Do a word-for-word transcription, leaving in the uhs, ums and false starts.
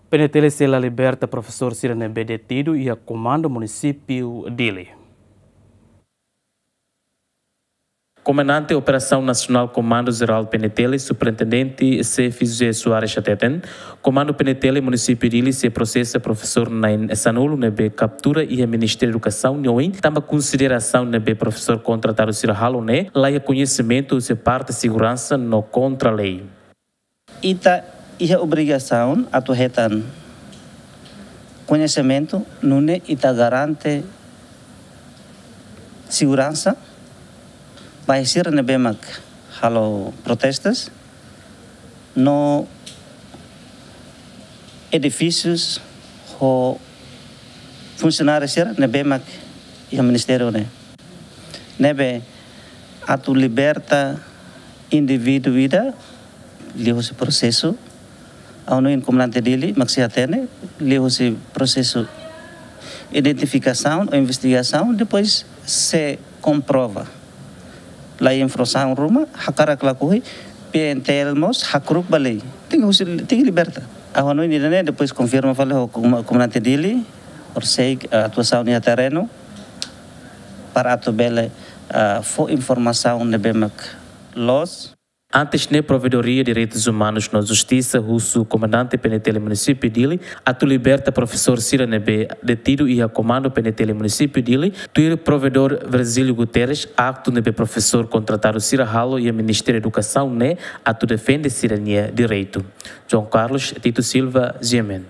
PNTL sei la liberta profesór sira ne'ebé detidu iha Komandu Munisípiu Dili. Komandante Operasaun Nasionál Komandu Jerál PNTL, Superintendente Xefe José Soares hateten, Komandu PNTL Munisípiu Dili sei prosesa profesór na'in sanulu ne'ebé kaptura iha Ministériu Edukasaun nia oin, tanba konsidera asaun ne'ebé profesór kontratadu sira halo ne'e laiha koñesimentu husi parte seguransa no kontra lei. Ita iha obrigasaun atu hetan koñesimentu nune'e ita garante seguransa ba sira ne'ebé mak halo protestas no edifísius ho funsionáriu sira ne'ebé mak iha ministériu ne'e. Ne'ebé atu liberta indivíduu ida liuhusi prosesu, ha'u hanoin Komandante Dili mak sei hatene, liuhusi prosesu identifikasaun ou investigasaun, depois se komprova laiha infrasaun ruma, hakarak lakohi, PNTL mós hakru'uk ba lei. Tenke husi, tenke liberta. Ha'u hanoin ida-ne'e, depois konfirma fali ho Koma-, Komandante Dili, horiseik, eh, atuasaun iha terrenu, para atu bele, eh, fó informasaun ne'ebé mak loos. Antes ne'e, Provedoria Direitus Umanus no Justisa husu Komandante PNTL Munisípiu Dili atu liberta profesór sira ne'ebé detidu iha Komandu PNTL Munisípiu Dili, tuir Provedór Virgílio Guterres, aktu ne'ebé profesór kontratadu sira halo iha Ministériu Edukasaun ne'e atu defende sira-nia direitu. João Carlos Tito Silva, GMN.